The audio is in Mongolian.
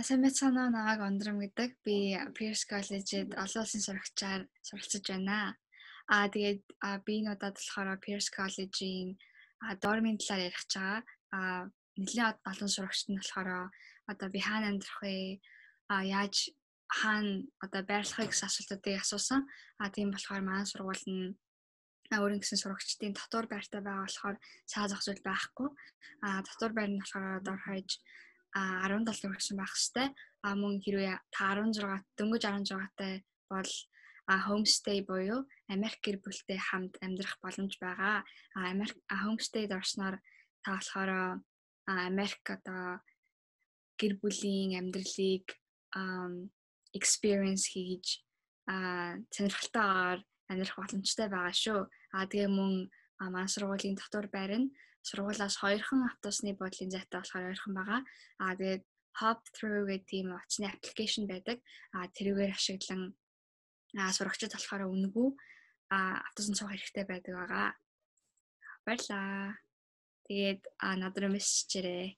Сайн мэцгаана уу, намайг Ондрам гэдэг. Би Pierce College-д олон улсын сурагчаар суралцж байна. Тэгээд би энэ удаад болохоор Pierce College-ийн дормын талаар ярих гэж байгаа. Нэлээд олон сурагчид нь болохоор одоо би хаана амьдрах вэ? Яаж хаана одоо байрлахыг гэсэн асуултуудыг асуусан. Тийм болохоор манай сургууль нь өөрийн гэсэн сурагчдын дотор байртай байгаа болохоор цаа зах зүйл байхгүй. Дотор байр нь болохоор дор хаяж 17 төгрөгсөн байх хэвээр. Мөн хэрвээ та 16 дөнгөж 16-тай бол homestay буюу Америк гэр бүлтэй хамт амьдрах боломж байгаа. Homestayд орсноор та болохоор Америк одоо гэр бүлийн амьдралыг experience хийж сонирхолтойгоор амьдрах боломжтой байгаа шүү. Тэгээ мөн манай сургуулийн дотор байр нь сургуулиас 2хан автобусны буудлын зайтай болохоор ойрхон байгаа. Тэгээд hop through гэх тийм утасны аппликейшн байдаг. Тэрүүгээр ашиглан сурагчид болохоор үнэгүй автобусанд суух хэрэгтэй байдаг байгаа. Баярлалаа. Тэгээд над руу мессежээрэй.